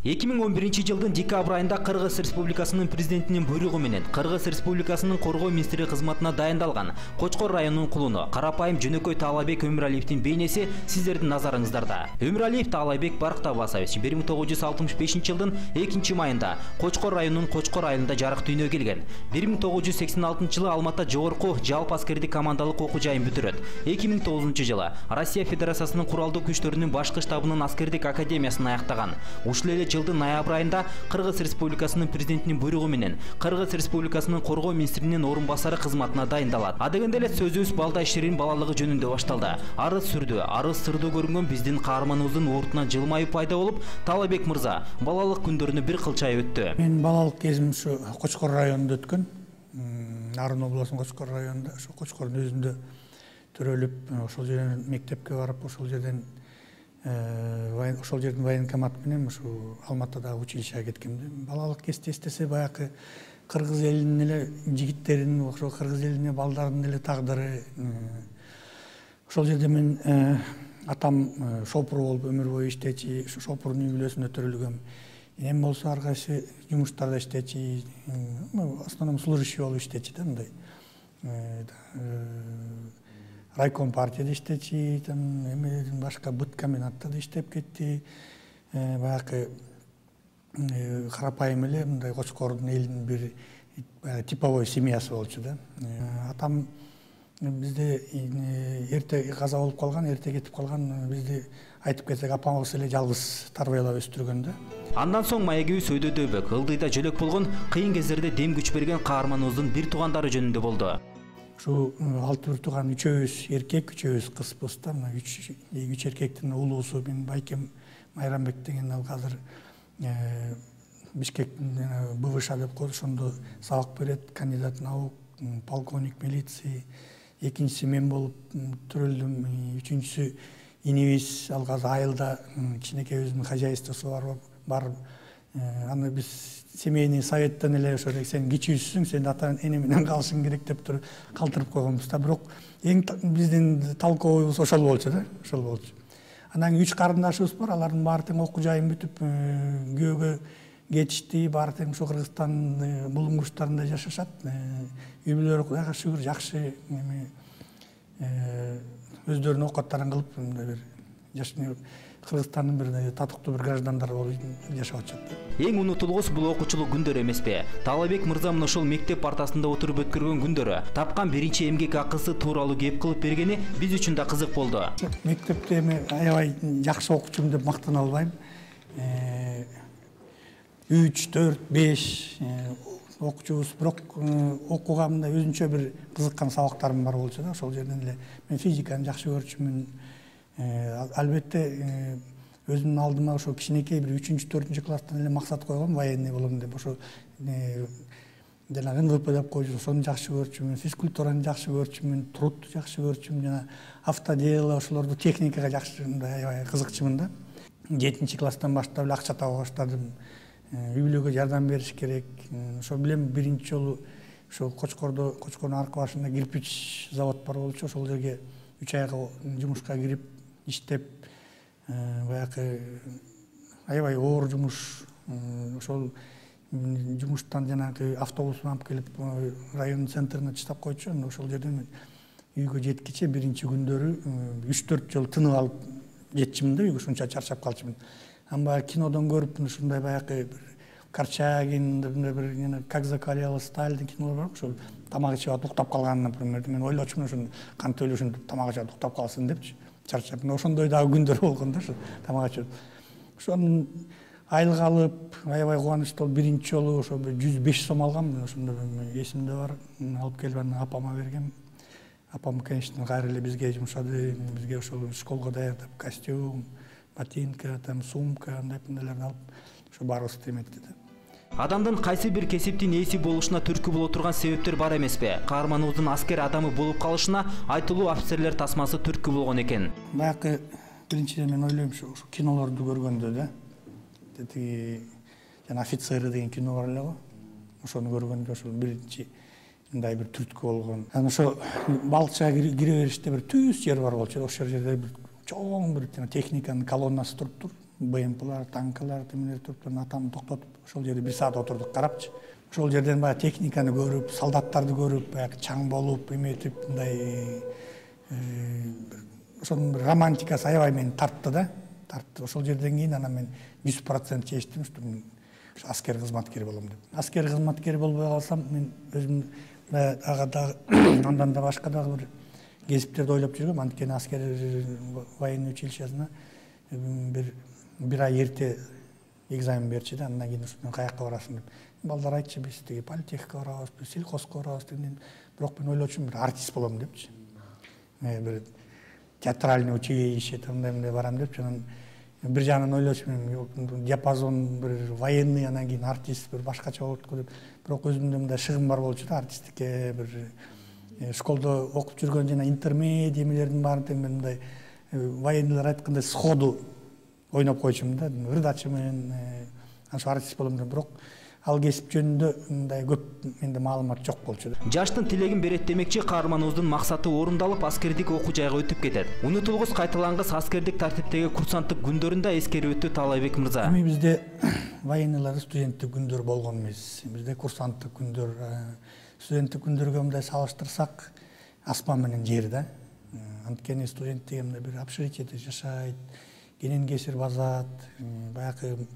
2011-жылдын декабрь айында Кыргыз Республикасынын президентинин буйругу менен Кыргыз Республикасынын коргоо министри кызматына дайындалган Кочкор районунун кулуну карапайым жөнөкөй Таалайбек Өмүралиевдин бейнеси сиздердин назарыңыздарда. Өмүралиев Таалайбек Баркт Аббасович 1965-жылдын 2-майында Кочкор районунун Кочкор айылында жарык дүйнөгө келген. 1986-жылы Алматта жогорку жалпы аскердик командалык окуу жайын бүтүрөт. 2009-жылы Россия Федерациясынын куралдуу күчтөрүнүн башкы штабынын аскердик академиясын аяктаган. Ушул эле жылдын ноябрь айында Кыргыз Республикасынын президентинин буйругу менен Кыргыз Республикасынын коргоо министринин орун басары кызматына дайындалат. Адегенде эле сөзүбүз балда иштеринин балалыгы жөнүндө башталды. Арыз сүрдүү, арыз сырдуу көрүнгөн биздин каарманыбыздын уртунан жылмайып пайда болуп, Таалайбек мырза балалык күндөрүнү бир кылчай өттү. Мен балалык кезим ушу Кочкор районунда өткөн. Нарын областынын Кочкор районунда, ошо Кочкордун өзүндө төрөлүп, ошол жерден мектепке барып, ошол жерден военкомат менен ушу Алматыдагы училищеге кеткем. Балалык кезде эстесе баягы кыргыз элинин эле жигиттеринин, ошо кыргыз элинин балдарынын эле тагдыры. Ошол жерде мен атам шопур болуп өмүр бою иштечи, ушу шопурдун үй бүлөсүндө төрөлгөм. Энем болсо ар кайсы жумуштарда иштечи, в основном служащий болуп иштечи да, мындай. Райком партияда иштечи, эмеден башка быт комбинатта да иштеп кетти. Баягы карапайым эле мындай Кочкордун элинин бир типовой семьясы болчу да. Атам бизде эрте каза болуп калган, эрте кетип калган, бизди айтып кетсек апамыз эле жалгыз тарбиялап өстүргөн да. Андан соң маегибиз өйдөдөбөк, ылдыйда жөлөк болгон, кыйын кездерде дем күч берген каарманыбыздын бир туугандары жөнүндө болду. Ушу 6 тууган, 3-өбүз эркек, 3-өбүз кызбыз да. 3 эркектин улуусу мен Байкем Майрамбек деген ал азыр Бишкектин БВШ деп коет, ошондо сабак берет, кандидат наук, полковник милиции. Экинчиси мен болуп төрөлдүм, үчүнчүсү инибиз ал азыр айылда кичинекей өзүнүн хозяйствосу бар. Аны биз семейный советтен эле ошо сен кичүүсүң, сен ата эне менен калышың керек деп туруп калтырып койгонбуз да. Бирок эң биздин талкообуз ошол болчу да, ошол болчу. Анан 3 карындашыбыз бар, алардын баары тең окуу жайын бүтүп күйөөгө кетишти, баары тең ушу Кыргызстандын булуңгучтарында жашашат. Үй бүлөлөрү Кудайга шүгүр жакшы, өздөрүнүн оокаттарын кылып, бир жашны Кыргызстандын бир татыктуу бир граждандары болуп жашап атышат. Эң унутулгус бул окуучулук күндөр эмеспи? Таалайбек мырза мына ошол мектеп партасында отуруп өткөргөн күндөрү, тапкан биринчи эмгек акысы тууралуу кеп кылып бергени биз үчүн да кызык болду. Мектепте эми аябай жакшы окуучумун деп мактана албайм. 3, 4, 5 окуучубуз, бирок окууга мындай өзүнчө бир кызыккан сабактарым бар болчу да. Ошол жерден эле мен физиканы жакшы көрчүмүн. Албетте өзүмдүн алдыма ошо кичинекей бир 3-4 класстан эле максат койгом, военный болом деп. Ошо жана НВП деп койчу, ошону жакшы көрчүмүн, физкультураны жакшы көрчүмүн, трудду жакшы көрчүмүн, жана автодело, ошолорду техникага жакшы аябай кызыкчумун да. 7-класстан баштап эле акча таба баштадым. Үй бүлөгө жардам бериш керек. Ошо билем биринчи жолу ошо Кочкордун аркы башында кирпич завод бар болчу. Ошол жерге 3 айга жумушка кирип иштеп, баягы аябай оор жумуш. Ошол жумуштан жанагы автобус алып келип районун центрине таштап койчу. Ошол жерден үйгө жеткиче биринчи күндөрү 3-4 жол тынып алып жетчимин да, үйгө ушунча чарчап калчумун. Amba кинодон көрүп ушундай баягы бир Корчагин, бир Как закалялась сталь деген кинолор бар. Ошол тамак ичип атып уктап калган, например, мен ойлочумун ошону кантип эле ушинтип тамак ичип уктап калсын депчи, чарчап. Ошондой дагы күндөр болгон да, ошо тамак ичип. Ошону айылга алып, аябай кубанычтуу болуп биринчи жолу ошо 105 сом алгам, ошондо эсимде бар. Алып келип аны апама бергем. Апам, конечно, кайра эле бизге жумшады, бизге ошол школго даярдап костюм, ботинка, сумка, андайларды алып, ошо баарыбызды эметти да. Адамдын кайсы бир кесиптин ээси болушуна түрткү боло турган себептер бар эмеспи? Каарманыбыздын аскер адамы болуп калышына айтылуу офицерлер тасмасы түрткү болгон экен. Баягы биринчиден мен ойлойм ушу кинолорду көргөндө да. Тиги жана офицеры деген кино бар эле го. Ошону көргөндө ошол биринчи мындай бир түрткү болгон. Анан ошо балыкчыга кире бериште бир түз жер бар болчу. Ошол жерде бир чоң бир техниканын колоннасы туруптур. БМПлар, танкалар темелер туруп атамды токтотуп ошол жерде 1 саат отурдук карапчы. Ошол жерден баягы техниканы көрүп, солдаттарды көрүп, баягы чаң болуп, эметип мындай ошонун бир романтикасы аябай мени тартты да. Тартты. Ошол жерден кийин анан мен 100% чечтим, что мен аскер кызматкери болом деп. Аскер кызматкери болбой калсам, мен өзүм ага дагы андан да башка дагы бир кесиптерди ойлоп жүргөм. Анткени аскер военный училищесине бир ай эрте экзамен берчи да, андан кийин ушундан каякка барасың деп. Балдар айтчы, биз тиги политехке барабыз, биз сельхозко барабыз деген. Бирок мен ойлочумун, бир артист болом депчи. Бир театральный училище мындай барам депчи. Анан бир жагынан ойлочумун, диапазон бир военный, анан кийин артист бир башкача болот деп. Бирок өзүмдө мындай шыгым бар болчу да, артисттикке бир школдо окуп жүргөн жана интермедиа эмелердин баарын тең мен мындай военныйлар айткандай сходу ойноп койчумун да, ырдачымын, ошо артист болом деп. Бирок ал кесип жөнүндө мындай көп менде маалымат жок болчу. Жаштын тилегин берет демекчи, каарманыбыздын максаты орундалып, аскердик окуу жайга өтүп кетет. Унутулгус кайталангыс аскердик тартиптеги курсанттык күндөрүндө эскерип өттү Таалайбек мырза. Эми бизде военныйлар студенттик күндөр болгон эмес. Бизде курсанттык күндөр, студенттик күндөргө мындай салыштырсак, аспан менен жер да. Анткени студент дегенде бир общежитиеде жашайт, кенен кесир базат, баягы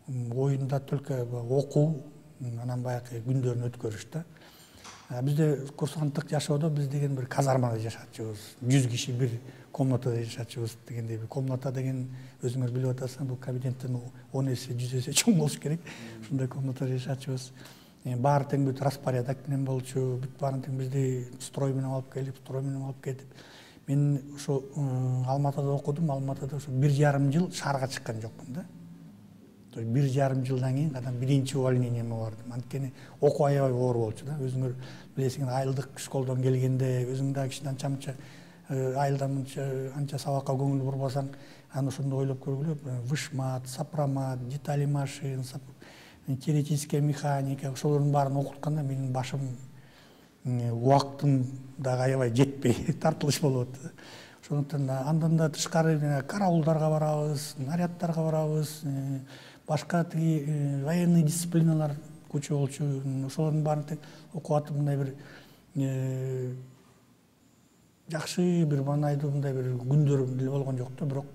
оюнда только окуу, анан баягы күндөрүн өткөрүш да. Бизде курсанттык жашоодо биз деген бир казармада жашачубыз. 100 киши бир комнатада жашачубыз дегендей. Комната деген өзүңөр билип атасың, бул кабинеттен 10 эсе, 100 эсе чоң болуш керек. Ушундай комнатада жашачубыз. Баары тең бүт распорядок менен болчу, бүт баарын тең бизди строй менен алып келип, строй менен алып кетип. Мен ошо Алматыда окудум, Алматыда ошо 1,5 жыл шаарга чыккан жокмун да. 1,5 жылдан кийин кадан биринчи увольнениеме бардым. Анткени окуу аябай оор болчу да. Өзүңөр билесиңер, айылдык школдон келгенде өзүң да кичине анча айылдан анча сабакка көңүл бурбасаң, аны ошондо ойлоп көргүлө, вышмат, сопромат, детали машин, теоретическая механика, ошолордун баарын окутканда менин башым убактым дагы аябай жетпей тартылыш болуп атты. Ошондуктан андан да тышкары караулдарга барабыз, наряддарга барабыз, башка тиги военный дисциплиналар куча болчу. Ошолордун баарын тең окуп атып, мындай бир жакшы бир маанайдуу мындай бир күндөр деле болгон жок да. Бирок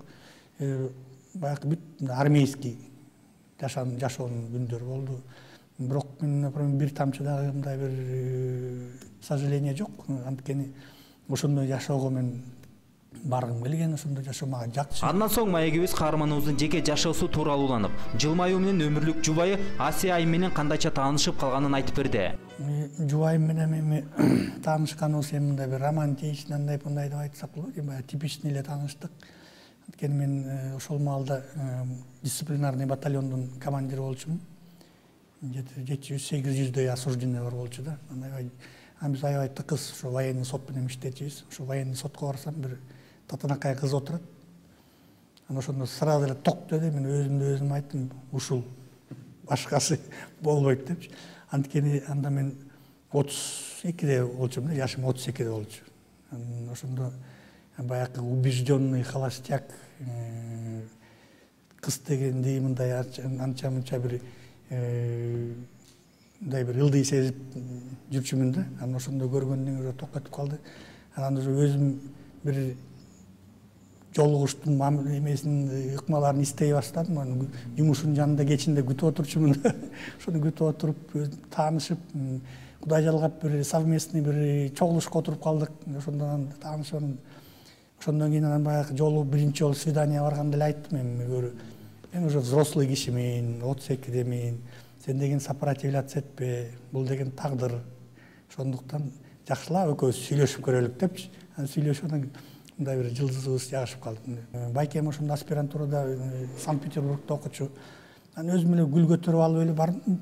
баягы бүт армейский жашоонун күндөрү болду. Бирок мен, например, бир тамчы дагы мындай бир сожаление жок. Анткени ошондой жашоого мен баргым келген, ошондой жашоо мага жакчы. Андан соң маегибиз каарманыбыздын жеке жашоосу тууралуу уланып, жылмаюу менен өмүрлүк жубайы Асия айым менен кандайча таанышып калганын айтып берди. Жубайым менен эми таанышканыбыз эми мындай бир романтичный, андай мындай деп айтсак болот, баягы типичный эле тааныштык. Анткени мен ошол маалда дисциплинарный батальондун командири болчумун. 700-800дөй осужденный бар болчу да. Биз аябай тыкыз ошо военный сот менен иштечүбүз. Ошо военный сотко барсам, бир татынакай кыз отурат. Анан ошондо сразу эле ток деди, мен өзүм айттым, ушул башкасы болбойт депчи. Анткени анда мен 32-де болчумун да, жашым 32-де болчу. Ошондо баягы убежденный холостяк кыз дегенди мындай анча-мынча бир мындай бир ылдый сезип жүрчүмүн да. Анан ошондо көргөндөн кийин токотуп калды. Анан өзүм бир жолугуштун эмесин, ыкмаларын издей баштадым. Жумушунун жанында кечинде күтүп отурчумун да. Ошону күтүп отуруп, таанышып, Кудай жалгап бир совместный бир чогулушка отуруп калдык. Ошондон таанышып, ошондон кийин анан баягы жолу биринчи жолу свидание барганда эле айттым, мен уже взрослый кишимин, 32-демин. Сен деген сопротивляться этпе, бул деген тагдыр. Ошондуктан жакшылап экөөбүз сүйлөшүп көрөлүк депчи. Сүйлөшүп мындай бир жылдызыбыз жагышып калды. Байкем ошондо аспирантурада Санкт-Петербургда окучу. Анан өзүм эле гүл көтөрүп алып эле бардым.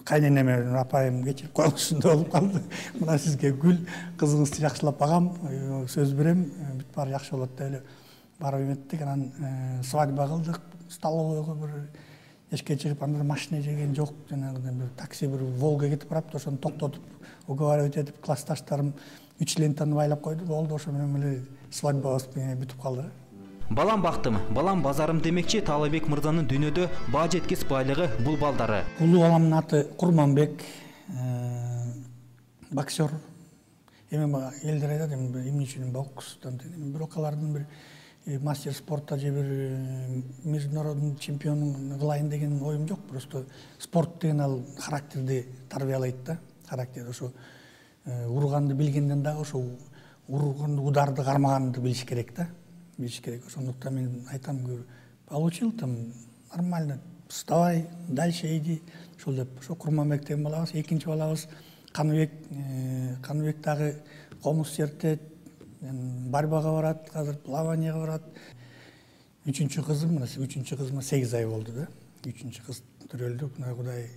Кайненеме, апайым кечирип коюңузчу болуп калды. Мына сизге гүл, кызыңызды жакшылап багам, сөз берем, бүт баары жакшы болот деп эле барып эметтик. Анан свадьба кылдык, столовойго бир эшикке чыгып, анда машина жеген жок, жанагы бир такси, бир Волга кетип барапты, ошону токтотуп, уговаривать этип, классташтарым 3 лентаны байлап койду, болду, ошо менен эле свадьбабыз бүтүп калды. Балам бактым, балам базарым демекчи Таалайбек мырзанын дүйнөдө баа жеткис байлыгы бул балдары. Улуу баламдын аты Курманбек, боксер. Эми элдер айтат, эмне үчүн бокстан, бирок алардын бир мастер спорта же бир международный чемпион кылайын деген оюм жок. Просто спорт деген ал характерди тарбиялайт да. Характер ошо урганды билгенден дагы ошо урганды, ударды кармаганды билиш керек да. Билиш керек. Ошондуктан мен айтам, получил там нормально, вставай, дальше иди. Ошол деп, ошо Курманбек деген балабыз, экинчи балабыз Каныбек дагы комуз чертет, борьбага барат, азыр плаванияга барат. Үчүнчү кызыма 8 ай болду да. Үчүнчү кыз төрөлдү. Кудай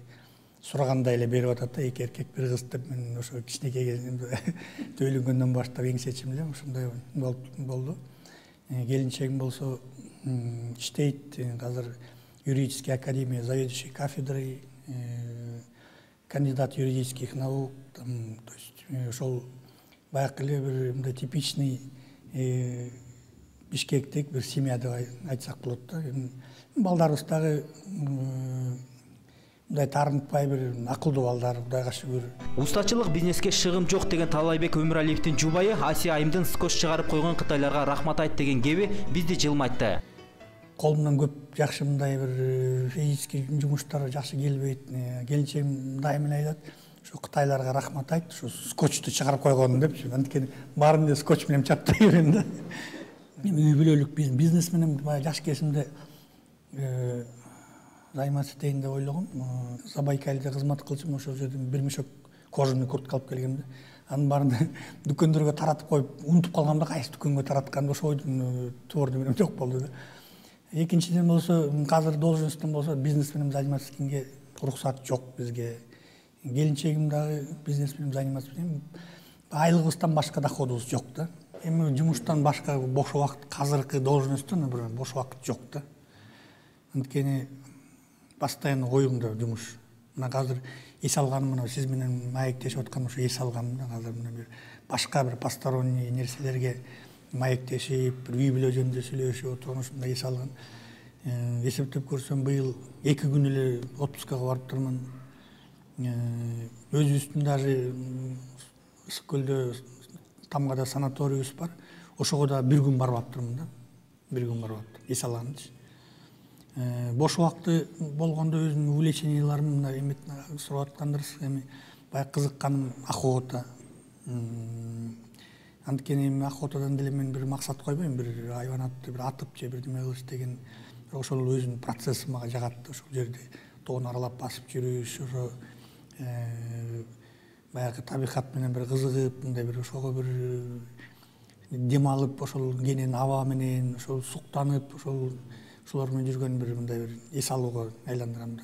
сурагандай эле берип атат да, 2 эркек 1 кыз деп. Мен ошо кичинекей кезимде үйлөнгөндөн баштап эң чечим эле ошондой болду. Келинчегим болсо иштейт, азыр юридический академия, заведующий кафедрой, кандидат юридических наук, то есть ошол баягы эле бир мындай типичный бишкектик бир семья деп айтсак болот да. Балдарыбыз дагы мындай таарынтпай бир акылдуу балдар, Кудайга шүгүр. Устачылык бизнеске шыгым жок деген Таалайбек Өмүралиевдин жубайы Асия айымдын скотч чыгарып койгон кытайларга рахмат айт деген кеби бизди жылмайтты. Колумдан көп жакшы мындай бир физический жумуштар жакшы келбейт. Келинчегим дайыма айтат, ошо кытайларга рахмат айт, ошо скотчту чыгарып койгон депчи. Анткени баарын эле скотч менен чаптай берем да. Үй бүлөлүк бизнес менен баягы жаш кезимде займаться этейин деп ойлогом. Забайкальде кызмат кылчумун, ошол жерден бир мешок кожаный куртка алып келгем да. Анын баарын дүкөндөргө таратып коюп, унутуп калгам да, кайсы дүкөнгө таратканды ошо ойдун творду менен жок болду да. Экинчиден болсо, азыр должностьтон болсо бизнес менен заниматься эткенге уруксат жок бизге. Келинчегим дагы бизнес менен заниматься эткен. Айлыгыбыздан башка доходубуз жок да. Эми жумуштан башка бош убакыт, азыркы должностьтон бир бош убакыт жок да. Анткени постоянно оюмда жумуш. Мына азыр эс алганым, мына сиз менен маектешип атканым ошо эс алганым да. Азыр мына бир башка бир посторонний нерселерге маектешип, бир үй бүлө жөнүндө сүйлөшүп отурган ушундай эс алган. Эсептеп көрсөм, быйыл 2 күн эле отпускага барып турман. Өзүбүздүн даже Ысык көлдө Тамгада санаторийбиз бар. Ошого да 1 күн барып аптырмын да. 1 күн барып аптым, эс алганчы. Бош убакыты болгондо өзүмдүн увлеченияларым мына эмет сурап аткандырсыз, эми баягы кызыкканым охота. Анткени эми охотадан деле мен бир максат койбойм, бир айванатты бир атып же бир неме кылыш деген. Ошол өзүнүн процесси мага жагат. Ошол жерде тоону аралап басып жүрүш, ошо баягы табигат менен бир кызыгып, мындай бир ошого бир дем алып, ошол кенен аба менен ошол суктанып, ошолор менен жүргөн бир мындай бир эс алууга айландырам да.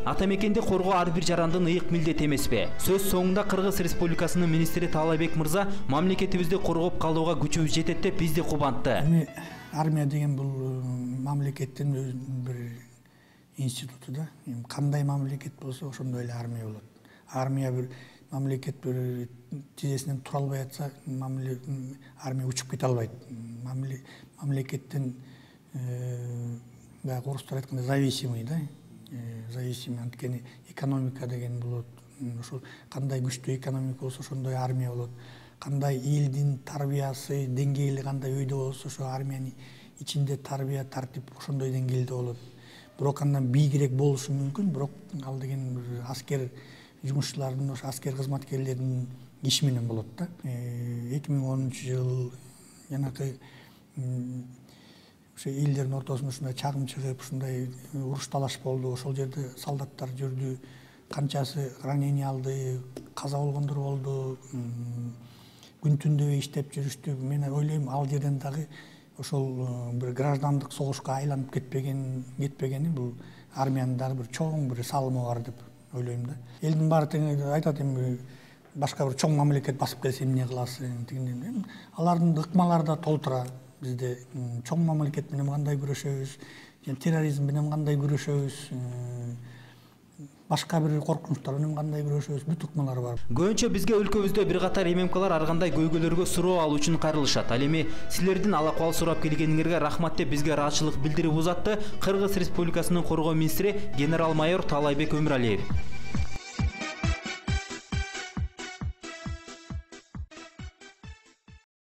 Ата мекенди коргоо ар бир жарандын ыйык милдети эмеспи? Сөз соңунда Кыргыз Республикасынын министри Таалайбек мырза мамлекетибизди коргоп калууга күчүбүз жетет деп бизди кубантты. Эми армия деген бул мамлекеттин өзүнүн бир институту да. Кандай мамлекет болсо ошондой эле армия болот. Армия бир мамлекет бир тизесинен тура албай атса, армия учуп кете албайт. Мамлекеттин баягы орустар айткандай зависимый да. Зависимый, анткени экономика деген болот. Ошол кандай күчтүү экономика болсо ошондой армия болот. Кандай элдин тарбиясы, деңгээли кандай өйдө болсо ошо армиянын ичинде тарбия, тартип ошондой деңгээлде болот. Бирок андан бийигирээк болушу мүмкүн, бирок ал деген аскер жумушчулардын, ошо аскер кызматкерлеринин иши менен болот да. 2010-жыл жанакы ошо элдердин ортосунда ушундай чагым чыгып, ушундай уруш талаш болду. Ошол жерде солдаттар жүрдү, канчасы ранение алды, каза болгондор болду, күн түндөбөй иштеп жүрүштү. Мен ойлойм, ал жерден дагы ошол бир граждандык согушка айланып кетпегени бул армиянын дагы бир чоң бир салымы бар деп ойлойм да. Элдин баары тең айтат, эми башка бир чоң мамлекет басып келсе эмне кыласың деген. Алардын ыкмалары да толтура. Бизде чоң мамлекет менен кандай күрөшөбүз, терроризм менен кандай күрөшөбүз, башка бир коркунучтар менен кандай күрөшөбүз, бүт ыкмалар бар. Көбүнчө бизге өлкөбүздө бир катар ММКлар ар кандай көйгөйлөргө суроо алуу үчүн кайрылышат. Ал эми силердин алакыбал сурап келгениңерге рахмат деп бизге ыраазычылык билдирип узатты Кыргыз Республикасынын коргоо министри генерал-майор Таалайбек Өмүралиев.